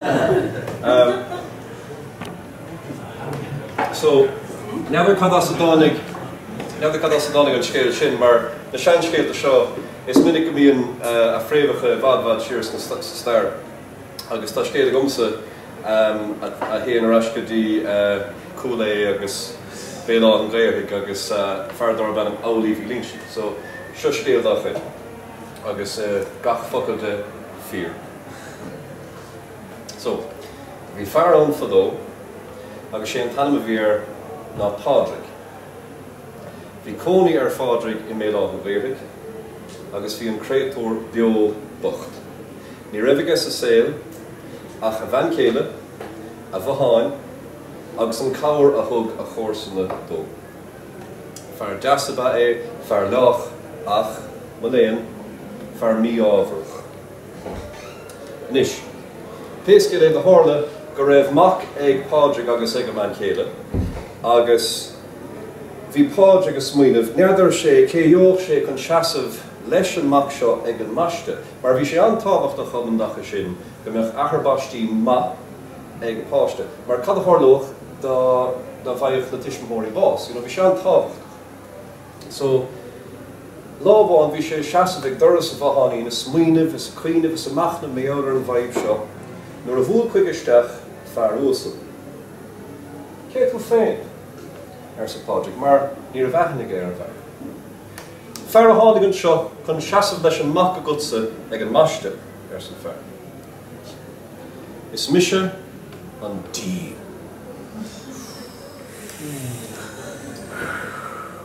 Um, so, n'fheadar cad as a dtáinig, n'fheadar cad as a dtáinig an scéal sin, mar na seanscéalta seo, is minic go mbíonn uh, a fréamhacha i bhfad bhfad siar sna sa stair. Agus tá scéal agamsa um, a, a théann ar ais go dtí uh, Cúil Aodha agus Béal Átha an Ghaorthaidh agus uh, fear darb ainm Amhlaoibh Uí Loingsigh. So, seo scéal dá chuid. Agus uh, gach focal de fíor. So, bhí fear ann fadó agus sé an t-ainm a bhí air ná Pádraig. Bhí cónaí ar Phádraig i mBéal Átha an Ghaorthaidh agus bhí an créatúr beo bocht. Ní raibh aige sa saol ach a bhean chéile, a bhotháin agus an cabhair a thug a chomharsana dó. Fear deas ab ea é, fear lách ach, mo léan, fear mí-ámharach. Anois, pé scéal é do tharla go raibh mac ag Pádraig agus ag a mbean chéile agus bhí Pádraig ag smaoineamh, n'fheadar sé cé gheobhadh sé chun seasamh leis an mac seo ag an mbaiste, mar bhí sé an-tábhachtach um an dtaca sin go mbeadh athair baistí maith ag an páiste, mar cad a tharlódh dá dá bhfaigheadh na tuismitheoirí bás, you know, bhí sé an-tábhachtach. So, lá amháin bhí sé ag seasamh ag doras a bhotháinín ag smaoineamh is ag cuimhneamh is ag machnamh mar gheall ar an bhfadhb seo nuair a bhuail chuige isteach fear uasal. Cé tú féin? arsa Pádraig mar ní raibh aithne aige ar an bhfear. Fear a tháinig anseo chun seasamh leis an mac agatsa ag an mbaiste, arsa an fear. Is mise an Dia.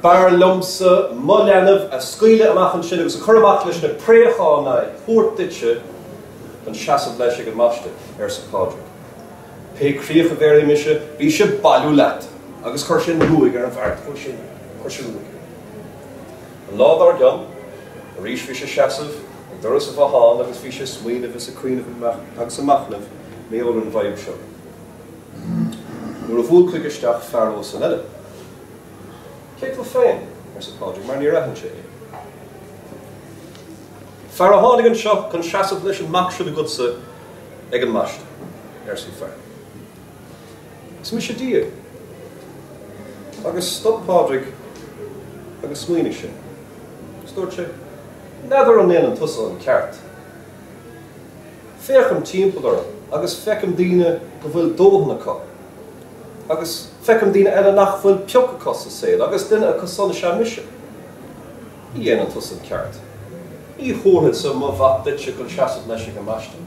B'fhearr liomsa mo leanbh a scaoileadh amach ansin agus a chur amach leis na préacháin ná é thabhairt duitse chun seasamh leis ag an mbaiste, arsa Pádraig. Pé críoch a bhéarfaidh mise, bíse ag bailiú leat! Agus chuir sé an ruaig ar an bhfear. Chuir sé, chuir sé ruaig air. An lá dár gcionn, arís bhí sé seasamh ag doras a bhotháin agus bhí sé ag smaoineamh is ag cuimhneamh agus ag machnamh mar gheall ar an bhfadhb seo. Nuair a bhuail chuige isteach fear uasal eile. Cé tú féin? arsa Pádraig mar níor aithin sé é. Fear a tháinig anseo chun seasamh leis an mac sin agatsa ag an mbaiste, arsa an fear. Is mise Dia. Agus stop Pádraig agus smaoinigh sé. Is dúirt sé, N'fheadar an ndéanann tusa an ceart. Féachaim timpeall orm agus feicim daoine go bhfuil dóthain acu. Agus feicim daoine eile nach bhfuil pioc acu sa saol agus duine acu san is ea mise. Ní dhéanann tusa an ceart. Ní thabharfadsa mo mhac duitse chun seasamh leis ag an mbaiste.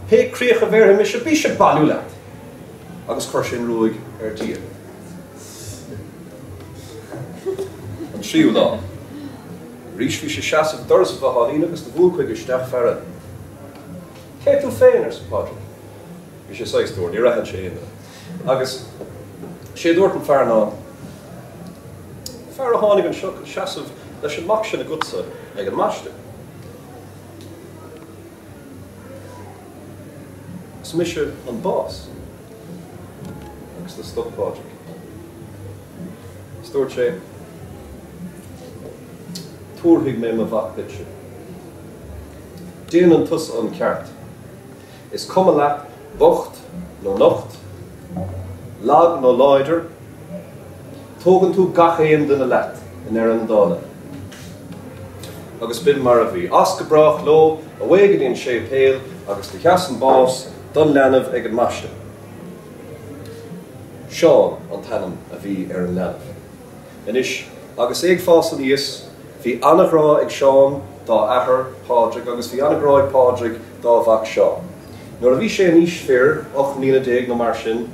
Pé críoch a bhéarfaidh mise, bíse ag bailiú leat! Agus chuir sé an ruaig ar Dhia. An tríú lá. Arís bhí sé seasamh ag doras a bhotháinín agus do bhuail chuige isteach fear eile. Cé tú féin? arsa Pádraig. Bhí sé saghas dúr, níor aithin sé aon duine. Agus sé a dúirt an fear ná, Fear a tháinig anseo chun seasamh leis an mac sin agatsa ag an mbaiste. Is mise an bás. Agus do stop Pádraig. Is dúirt sé, Tabharfaidh mé mo mhac duitse. Déanann tusa an ceart. Is cuma leat bocht nó nocht, lag nó láidir, tógann tú gach aon duine leat i ndeireadh na dála. Agus b'in mar a bhí. As go brách leo, away go dtí an séipéal agus do sheas an bás don leanbh ag an mbaiste. Seán an t-ainm a bhí ar an leanbh. Anois, agus é ag fás aníos, bhí an-ghrá ag Seán dá athair, Pádraig, agus bhí an-ghrá ag Pádraig dá mhac Seán. Nuair a bhí sé in aois fir, 18 mbliana nó mar sin,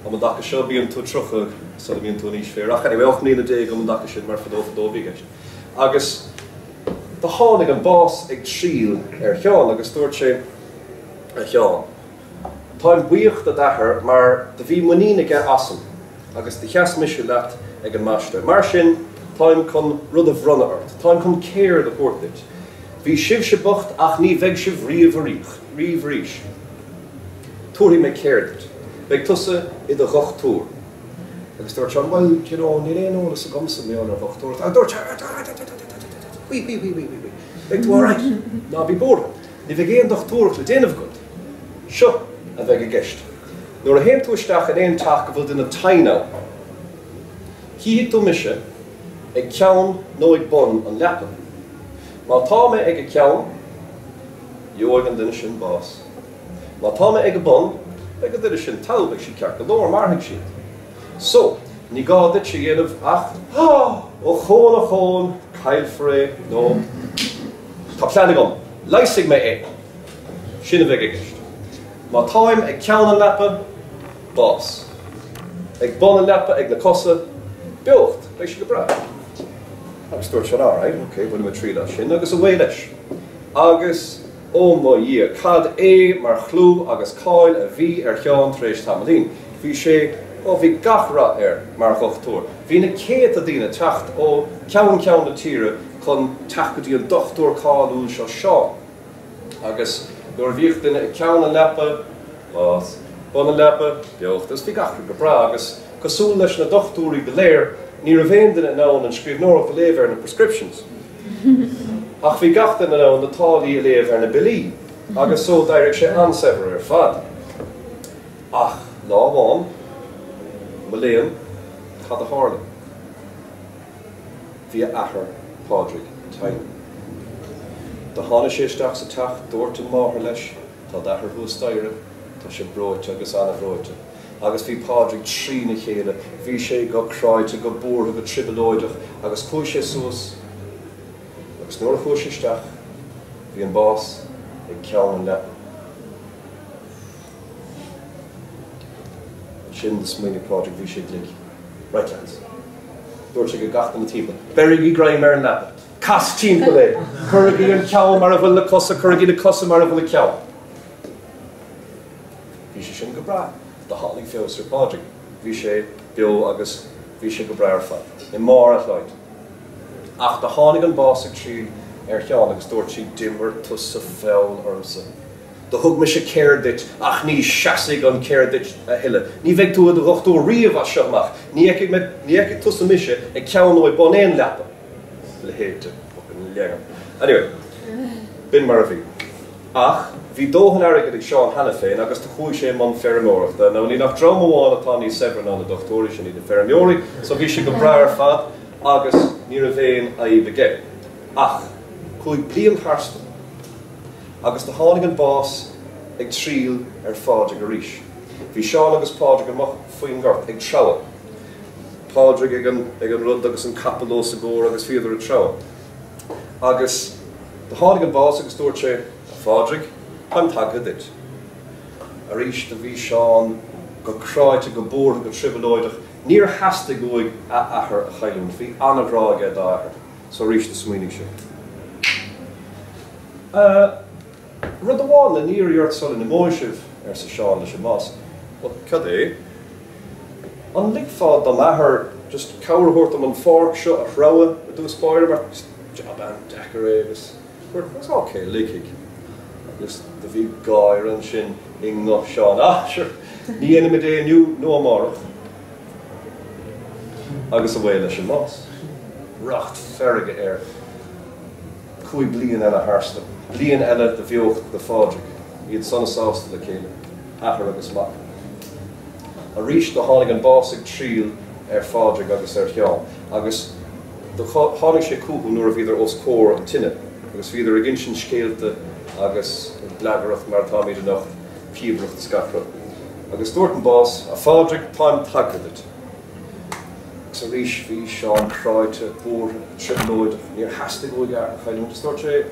um an dtaca seo, bíonn tú 30 sula mbíonn tú in aois fir, ach anyway, 18 mbliana um an dtaca sin, mar fadó fadó a bhí i gceist. Agus do tháinig an bás ag triall ar Sheán agus dúirt sé, A Sheáin, Táim buíoch do d'athair mar do bhí muinín aige asam agus do sheas mise leat ag an mbaiste. Mar sin, táim chun rud a bhronnadh ort. Táim chun ceird a thabhairt duit. Bhí sibhse bocht ach ní bheidh sibh riamh riamh arís. Tabharfaidh mé ceird duit. Beidh tusa i do dhochtúir. Agus dúirt Seán, Bhuel, you know, níl aon eolas agamsa mar gheall ar dhochtúireacht. Ach dúirt sé, Wí, wí, wí, wí, wí, wí. Beidh tú alright. Ná bí buartha. Ní bheidh aon dochtúireacht le déanamh agat. Seo. a bheidh i gceist. Nuair a théann tú isteach in aon teach go bhfuil duine tinn ann, Chífidh tú mise ag ceann nó ag bun an leapa. Má tá mé ag a ceann, gheobhaidh an duine sin bás. Má tá mé ag a bun, beidh an duine sin togha, beidh siad ceart go leor, mairfidh siad. So, ní gá duit a dhéanamh ach, Ochón, ochón, caillfear é, nó Tá plean agam, leigheasfaidh mé é! Sin a bheidh i gceist. Má táim ag ceann an leapa, bás. Ag bun an leapa, ag na cosa, beocht, beidh sé go breá. Agus dúirt Seán, Alright, ok, bainfidh mé triail as sin, agus away leis. Agus, ó mo Dhia, cad é mar chlú agus cáil a bhí ar Sheán tar éis tamaillín. Bhí sé, ó bhí gach rath air mar dhochtúir. Bhí na céadta daoine ag teacht ó cheann ceann na tíre chun teacht go dtí an dochtúir cáiliúil seo Seán. Agus nuair a bhíodh duine ag ceann an leapa, bás, bun an leapa, beocht, agus bhí gach rud go breá, agus cosúil leis na dochtúirí go léir, ní raibh aon duine in ann an scríbhneoireacht a léamh ar na prescriptions. Ach bhí gach duine in ann na táillí a léamh ar na billí, agus so d'éirigh sé an-saibhir ar fad. Ach lá amháin, mo léan, cad a tharla? Bhí a athair, Pádraig, tinn. Do tháinig sé isteach sa teach, dúirt an mháthair leis, Tá d'athair thuas staighre, tá sé breoite agus an-bhreoite. Agus bhí Pádraig trína chéile, bhí sé go cráite, go buartha, go trioblóideach, agus chuaigh sé suas, agus nuair a chuaigh sé isteach, bhí an bás ag ceann an leapa. Ansin do smaoinigh Pádraig, bhí sé glic. Right lads. Dúirt sé go gach duine timpeall, Beirigí greim ar an leapa! Cas timpeall é! Cuirigí an ceann mar a bhfuil na cosa, cuirigí na cosa mar a bhfuil an ceann! Bhí sé sin go breá. Do tháinig feabhas ar Phádraig. Bhí sé beo agus bhí sé go breá ar fad, i mbarr a shláinte. Ach do tháinig an bás ag triall ar Sheán agus dúirt sí, D'imir tusa feall ormsa. Do thug mise ceird duit ach ní seasfaidh an ceird duit a thuilleadh. Ní bheidh tú i do dhochtúir riamh as seo amach. Ní fheicfidh mé, ní fheicfidh tusa mise ag ceann nó ag bun aon leapa. A leithéid de fucking leagan. Anyway, b'in mar a bhí. Ach bhí dóthain airgid ag Seán cheana féin agus do chuaigh sé i mbun feirmeoireachta. Now níl ach dream amháin atá níos saibhre ná na dochtúirí, sin iad na feirmeoirí, so bhí sé go breá ar fad agus ní raibh aon fhadhb aige. Ach chuaigh bliain tharstu. Agus do tháinig an bás ag triall ar Phádraig arís. Bhí Seán agus Pádraig amuigh faoin ngort ag treabhadh. Pádraig ag an, ag an rud agus an capall os a gcomhair agus bhíodar ag treabhadh. Agus do tháinig an bás agus dúirt sé, A Phádraig, táim tagtha duit. Arís do bhí Seán go cráite, go buartha, go trioblóideach. Níor theastaigh uaidh a athair a chailliúint. Bhí an-ghrá aige dá athair. So arís do smaoinigh sé. Rud amháin le n-iarraidh ort sula n-imeoidh sibh, arsa Seán leis an mbás. Bhuel, cad é? An ligfeá dom athair just cabhair a thabhairt dom an pháirc seo a threabhadh i dtús báire mar is jab an-deacair é agus dúirt an bás, ok, ligfidh. Agus do bhí gáire ansin i nguth Seán. Ah, sure, ní dhéanfaimid é inniu nó amárach. Agus away leis an mbás. Racht feirge air. Chuaigh bliain eile tharstu. Bliain eile de bheocht do Phádraig. Iad sona sásta le chéile. Athair agus mac. Arís do tháinig an bás ag triall ar Phádraig agus ar Sheán agus do tháinig sé chucu nuair a bhíodar os comhair an tine agus bhíodar ag insint scéalta agus ag blagaireacht mar atáimid anocht, píobaireacht is gach rud. Agus dúirt an bás, A Phádraig, táim tagtha duit. Agus arís bhí Seán cráite, buartha, trioblóideach, níor theastaigh uaidh a athair a chailliúint. Is dúirt sé,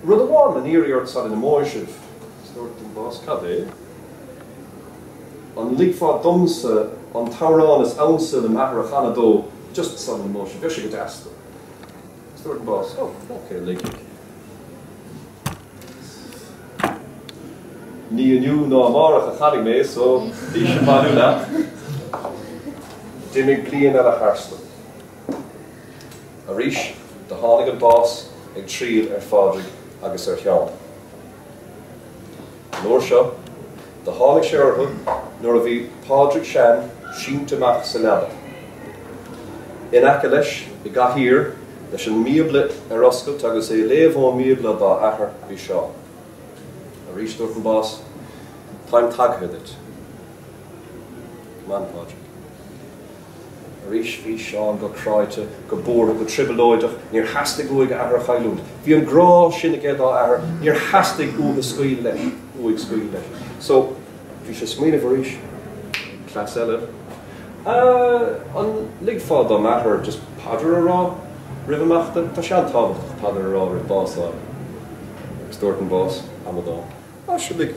Rud amháin le n-iarraidh ort sula n-imeoidh sibh. Is dúirt an bás, Cad é? An ligfeá domsa an t-amhrán is ansa le m'athair a chanadh dó just sula n-imeoidh sibh? Bheadh sé go deas dó. Is dúirt an bás, Oh, ok, ligfidh. Ní inniu ná amárach a chanfaidh mé so bís ag bailiú leat. D'imigh bliain eile tharstu. Arís do tháinig an bás ag triall ar Phádraig agus ar Sheán. An uair seo do tháinig sé orthu nuair a bhí Pádraig Sean sínte amach sa leaba. In aice leis, i gcathaoir, leis an mBíobla ar oscailt agus é ag léamh ón mBíobla dá athair, bhí Seán. Arís dúirt an bás. Táim tagtha duit. Come on, Pádraig. Arís bhí Seán go cráite, go buartha, go trioblóideach, níor theastaigh uaidh a athair a chailliúint. Bhí an grá sin aige dá athair, níor theastaigh uathu scaoileadh leis, uaidh scaoileadh leis. So, bhí sé ag smaoineamh arís, cleas eile, an ligfeá dom athair just paidir a rá roimh imeachta? Tá sé an-tábhachtach paidir a rá roimh bás a fháil. Agus dúirt an bás, amadán. Á, sin ag.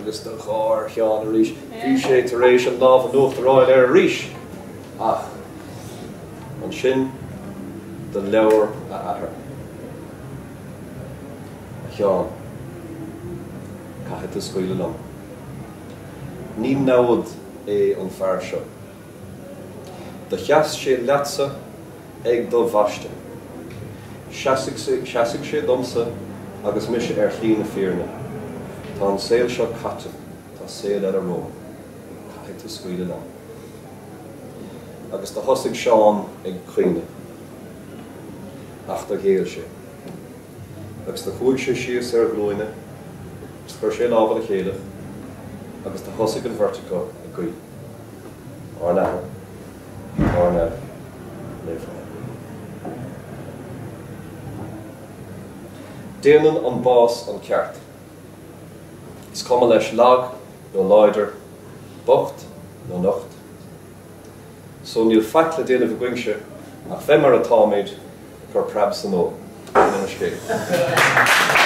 Agus do gháir Sheán arís. Bhí sé tar éis an lámh in uachtar a fháil air arís! Ach ansin do labhair a athair. A Sheáin, caithfidh tú scaoileadh liom. Ní namhad é an fear seo. Do sheas sé leatsa ag do bhaisteadh. Seasfaidh seasfaidh sé domsa agus mise ar shlí na fírinne. Tá an saol seo caite, tá saol eile romham. Caithfidh tú scaoileadh liom. Agus do thosaigh Seán ag caoineadh. Ach do ghéill sé. Agus do chuaigh sé síos ar a ghlúine agus chuir sé a lámha le chéile agus do thosaigh an bheirt acu ag guí. Ár nAthair, atá ar neamh, naofaithe. Déanann an bás an ceart. Is cuma leis lag nó láidir, bocht nó nocht. So níl faic le déanamh agaibhse ach bheith mar atáimid, ag cur preab san ól. Sin an scéal.